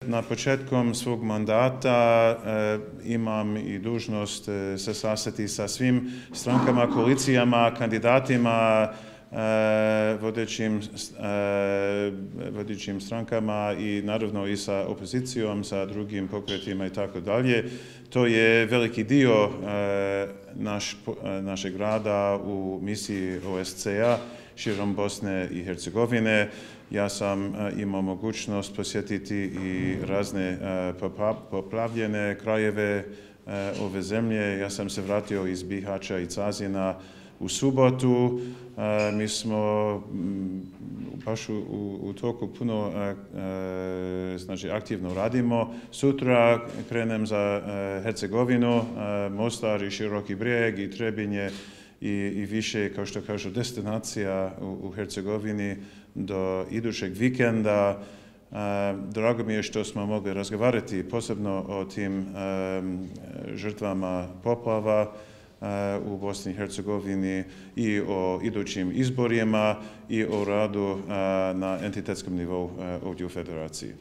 Na početkom svog mandata imam i dužnost se sastati sa svim strankama, koalicijama, kandidatima, vodećim strankama i naravno i sa opozicijom, sa drugim pokretima i tako dalje. To je veliki dio našeg rada u misiji OSCE-a širom Bosne i Hercegovine. Ja sam imao mogućnost posjetiti i razne poplavljene krajeve ove zemlje. Ja sam se vratio iz Bihaća i Cazina u subotu. Mi smo baš u toku puno aktivno radimo. Sutra krenem za Hercegovinu, Mostar i Široki Brijeg i Trebinje i više, kao što kažu, destinacija u Hercegovini do idućeg vikenda. Drago mi je što smo mogli razgovarati posebno o tim žrtvama poplava u Bosni i Hercegovini i o idućim izborima i o radu na entitetskom nivou ovdje u Federaciji.